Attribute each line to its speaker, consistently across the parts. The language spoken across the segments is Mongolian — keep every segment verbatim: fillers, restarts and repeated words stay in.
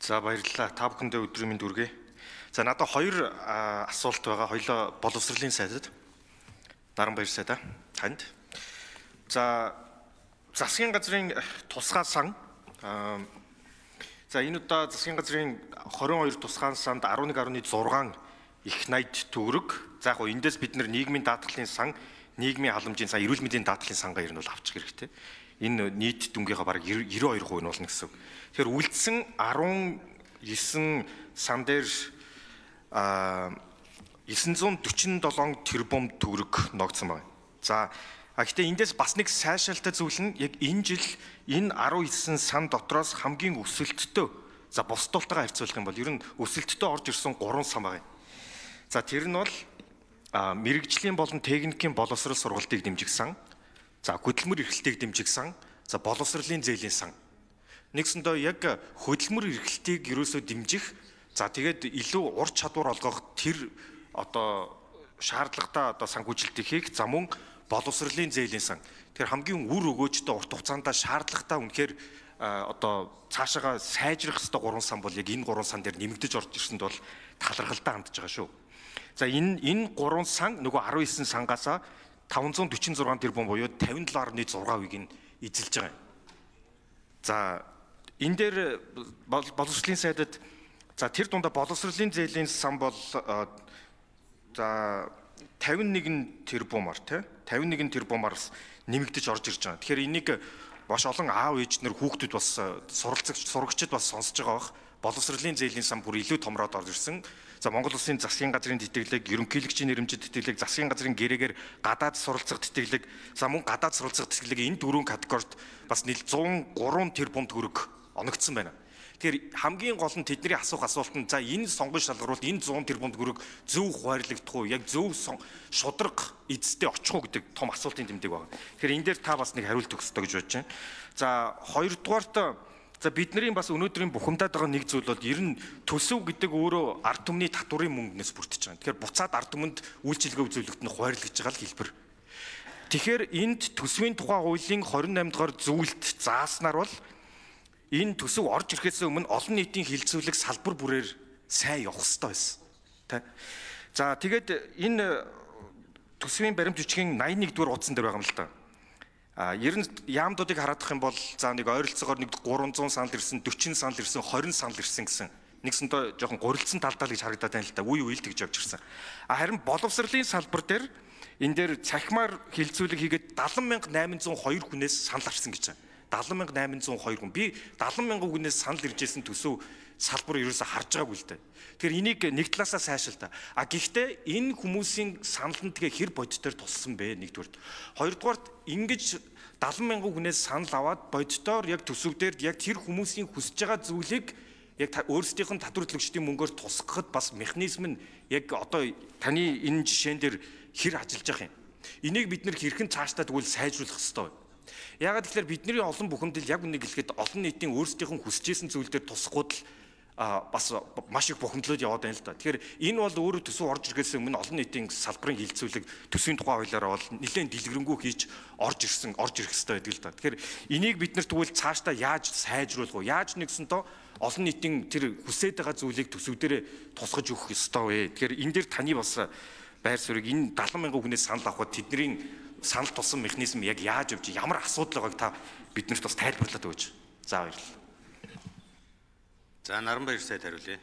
Speaker 1: За баярлалаа. Та бүхэндээ өдрийн мэнд хүргэе. За надад хоёр асуулт байгаа. Хоёлоо боловсролын сайдад. Наран баяр сайдаа танд. За засгийн газрын тусгай сан. За энэ удаа засгийн газрын хорин хоёр тусгай санд арван нэг нугтай зургаан их найд төгрөг. За яг гоо эндээс бид нар нийгмийн даатгалын сан, нийгмийн халамжийн сан, эрүүл мэндийн даатгалын сангаа ер нь бол авчих хэрэгтэй. Энэ нийт дүнгийнхаа бараг девяносто two percent нь болно гэсэн. Тэгэхээр үлдсэн арван нine сан дээр nine hundred forty-seven тэрбум төгрөг ногдсон байна. За гэхдээ эндээс бас нэг сайшаалтай зүйл нь яг энэ жил энэ nineteen сан дотроос хамгийн өсөлттэй. За бусдуултайгаа харьцуулах юм бол ер нь өсөлттэй орж ирсэн three сан байна. За тэр нь бол мэрэгжлийн болон техникийн боловсрол сургалтыг дэмжих сан. За хөдөлмөр эрхлэлтийг дэмжих сан, за боловсролын зээлийн сан. Нэгсэндээ яг хөдөлмөр эрхлэлтийг ерөөсөө дэмжих, за тэгээд илүү ур чадвар олгох тэр одоо шаардлагатай одоо санхүүжилтийг хийх, за мөн боловсролын зээлийн сан. Тэр хамгийн үр өгөөжтэй урт хугацаанд шаардлагатай үнэхээр одоо цаашаага сайжрах ёстой three сан бол яг энэ three сан дээр нэмэгдэж орж ирсэнд бол талархалтай хандж байгаа шүү. За энэ энэ three сан нөгөө nineteen сангаас five hundred forty-six тэрбум буюу fifty-seven point six percent-ийг нь эзэлж байгаа юм. За энэ дээр боловсролын сайдад за тэр дундаа боловсролын зээлийн сан бол за fifty-one тэрбумаар тий fifty-one тэрбумаар нэмэгдэж орж ирж байгаа. Тэгэхээр энийг маш олон аав ээж нар хүүхдүүд бас суралцагч сурагчид бас сонсож байгаа бах. Боловсролын зээлийн сан бүр илүү томроод орж ирсэн. За Монгол Улсын засгийн газрын тэтгэлэг, ерөнхийлөгчийн нэрмжит тэтгэлэг, засгийн газрын гэрээгээр гадаад суралцах тэтгэлэг, за мөн гадаад суралцах тэтгэлэг энэ дөрвөн категорид бас нийл one oh three тэрбум төгрөг оногдсон байна. Тэгэхээр хамгийн гол нь тэдний асуух асуулт нь за энэ сонгон шалгаруулалт энэ one hundred тэрбум төгрөг зөв хуваарлагдах уу, яг зөв шудраг эзэстэй очих уу гэдэг том асуултын тэмдэг байна. Тэгэхээр энэ дээр та бас нэг хариулт өгөх ёстой гэж бодож байна. За хоёрдугаарт за бидний бас өнөөдрийн бухимдаад байгаа нэг зүйл бол ер нь төсөв гэдэг өөрөө ард түмний татварын мөнгнөөс бүрдэж байгаа. Тэгэхээр буцаад ард түмэнд үйлчилгээ үзүүлэлт нь хуваарлагдж байгаа л хэлбэр. Тэгэхээр энд төсвийн тухай хуулийн twenty-eight дугаар зүйлд зааснаар бол энэ төсөв орж ирэхээс өмнө олон нийтийн хилцүүлэг салбар бүрээр сайн явах хэрэгтэй байсан. Тэ. За тэгээд энэ төсвийн баримт бичгийн ninety-one дугаар утсан дээр байгаа юм л та. А ер нь яамдуудыг хараадах юм бол за нэг ойролцоогоор нэг three hundred санал ирсэн, forty санал ирсэн, twenty санал ирсэн гэсэн. Нэгсэнтэй жоохон гурилдсан талдаа л гэж харагдаад байна л да. Үе үйл тэгж явж ирсэн. А харин боловсролын салбар дээр энэ дээр цахимаар хилцүүлэг хийгээд seventy thousand eight hundred two хүнээс санал авсан гэж байна. seventy thousand eight hundred two хүн. Би seventy thousand хүнээс санал ирж ирсэн төсөв салбар ерөөсө харж байгаагүй л дээ. Тэгэхээр энийг нэг талаасаа сайшаалта. А гэхдээ энэ хүмүүсийн санал нь тэгээ хэр бодитоор туссан бэ нэгдүгээр. Хоёрдугаарт ингэж seventy thousand хүнээс санал аваад бодитоор яг төсөв дээр яг тэр хүмүүсийн хүсэж байгаа зүйлийг яг өөрсдийнх нь татвар төлөгчдийн мөнгөөр тусгахад бас механизм нь яг одоо таны энэ жишээн дээр хэр ажиллаж байгаа юм. Энийг бид нэр хэрхэн цаашдаа тэгвэл сайжруулах ёстой. Яагаад гэвэл бидний олон бухимдал яг үнийг хэлэхэд олон нийтийн өөрсдийнх нь хүсэж исэн зүйл дээр тусахгүй л бас маш их бухимдлууд яваад байна л да. Тэгэхээр энэ бол өөрөө төсөв орж ирэхээс өмнө олон нийтийн салбарын хилцүүлэг төсвийн тухай хуулиараа бол нэлээд дэлгэрэнгүй хийж орж ирсэн, орж ирэх хэрэгтэй байдаг л да. Тэгэхээр энийг бид нар тэгвэл цаашдаа яаж сайжруулах вэ? Яаж нэгсэнтэй олон нийтийн тэр хүсэж байгаа зүйлийг төсөв дээр тусгаж өгөх ёстой вэ? Тэгэхээр энэ дээр таны бас байр суурийг энэ seventy thousand хүнээс санал авахд тэдний санал тулсан механизм яг яаж явж ямар асуудал байгааг та биднэрт бас тайлбарлаад өгөөч. За баярлалаа.
Speaker 2: За Наран баяр сайд хариулъя.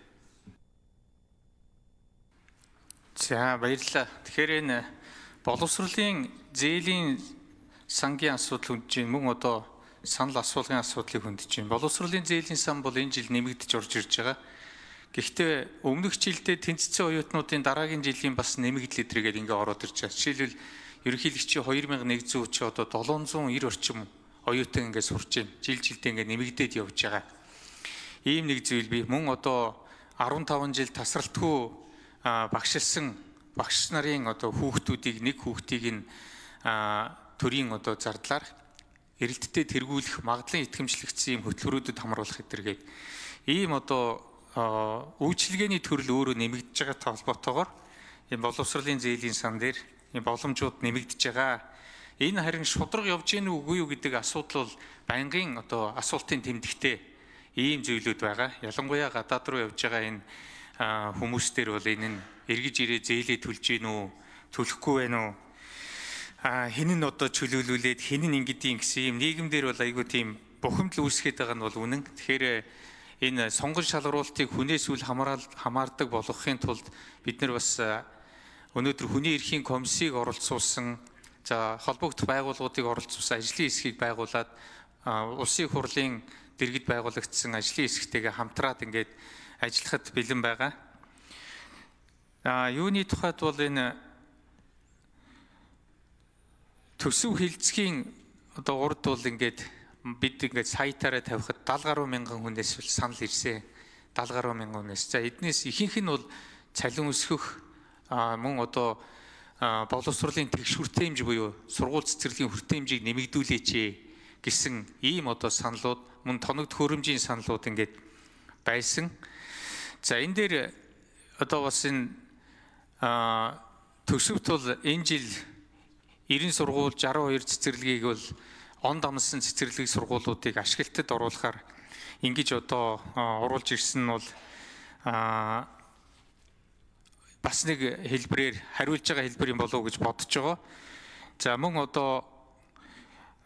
Speaker 3: За баярлалаа. Тэгэхээр энэ боловсролын зээлийн сангийн асуудал хүндэж байна. Мөн одоо санал асуулгын асуудлыг хүндэж байна. Боловсролын зээлийн сан бол энэ жил нэмэгдэж орж ирж байгаа. Гэхдээ өмнөх жилдээ тэнцсэн оюутнуудын дараагийн жилийн бас нэмэгдэл эдрэгээд ингээ ороод ирж байгаа. Жишээлбэл ерөнхийлөгчийн two thousand one hundred чи одоо seven hundred ninety орчим оюутан ингээ сурч байна. Жил жилдээ ингээ нэмэгдээд явж байгаа. Ийм нэг зүйл бий. Мөн одоо fifteen жил тасралтгүй багшилсан багш нарын одоо хүүхдүүдийг нэг хүүхдийг нь төрийн одоо зардлаар эрэлттэй тэргүүлэх магадлан итгэмжлэгдсэн ийм хөтөлбөрүүдэд хамруулах гэдэргээд ийм одоо үйлчилгээний төрөл өөрөө нэмэгдэж байгаатай холбоотойгоор энэ боловсролын зээлийн сан дээр энэ боломжууд нэмэгдэж байгаа. Энэ харин шудраг явж гин үгүй юу гэдэг асуудал бол байнгын одоо асуултын тэмдэгтээ ийм зүйлүүд байгаа. Ялангуяа гадаад руу явж байгаа энэ хүмүүстэр бол энэ нь эргэж ирээ зээлээ төлж гин үү, төлөхгүй байна уу? А хин нь одоо чөлөөлүүлээд хин нь ингэдэйн гэсэн юм нийгэмдэр бол айгүй тийм бухимдал үүсгээд байгаа нь бол үнэн. Тэгэхээр энэ сонгон шалгаруултыг хүнээс үл хамаардаг болгохын тулд бид нар бас өнөөдөр хүний эрхийн комиссийг оролцуулсан, за холбогдох байгууллагуудыг оролцуулсан ажлын хэсгийг байгуулад улсын хурлын дэргэд байгуулагдсан ажлын хэсэгтэйгээ хамтраад ингээд ажиллахад бэлэн байгаа. А юуны тухайд бол энэ төсөв хилцгийн одоо урд бол ингээд бид ингээд сайтаараа тавихад дагалгүй гаруй мянган хүнээс санал ирсэн. дагалгүй гаруй мянган хүнээс. За эднээс ихэнх нь бол цалин өсгөх мөн одоо боловсролын тэгш хүртээмж буюу сургууль цэцэрлэгийн хүртээмжийг нэмэгдүүлээч гэсэн ийм одоо саналууд, мөн тоног төхөөрөмжийн саналууд ингээд байсан. За энэ дээр одоо бас энэ төсөвт бол энэ жил эрен сургууль жаруу хоёр цэцэрлэгийг бол он дамсан цэцэрлэг сургуулиудыг ашиглалтад оруулахаар ингэж одоо оруулж ирсэн нь бол бас нэг хэлбэрээр хариулж байгаа хэлбэр юм болов уу гэж бодож байгаа. За мөн одоо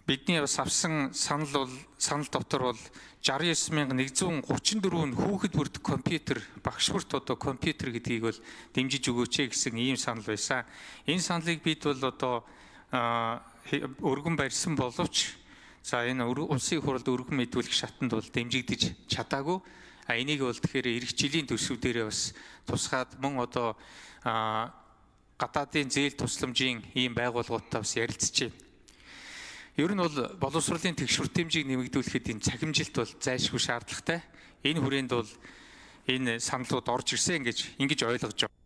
Speaker 3: бидний бас авсан санал бол санал дотор бол шестьдесят девять мянга нэгдүгээр гурван дөрвөн хүүхэд бүрдэх компьютер, багш бүрт одоо компьютер гэдгийг бол дэмжиж өгөөч гэсэн ийм санал байсан. Энэ саналыг бид бол одоо өргөн барьсан боловч за энэ улсын хурлд өргөн мэдүүлэх шатанд бол дэмжигдэж чадаагүй. А энийг бол тэгэхээр эх жилийн төсөв дээрээ бас тусгаад мөн одоо гадаадын зээл тусламжийн ийм байгууллагуудтай бас ярилцж байна. Ер нь бол боловсролын тэгш хүртээмжийг нэмэгдүүлэхэд энэ цахимжилт бол зайлшгүй шаардлагатай. Энэ хүрээнд бол энэ саналууд орж ирсэн гэж ингэж ойлгож байна.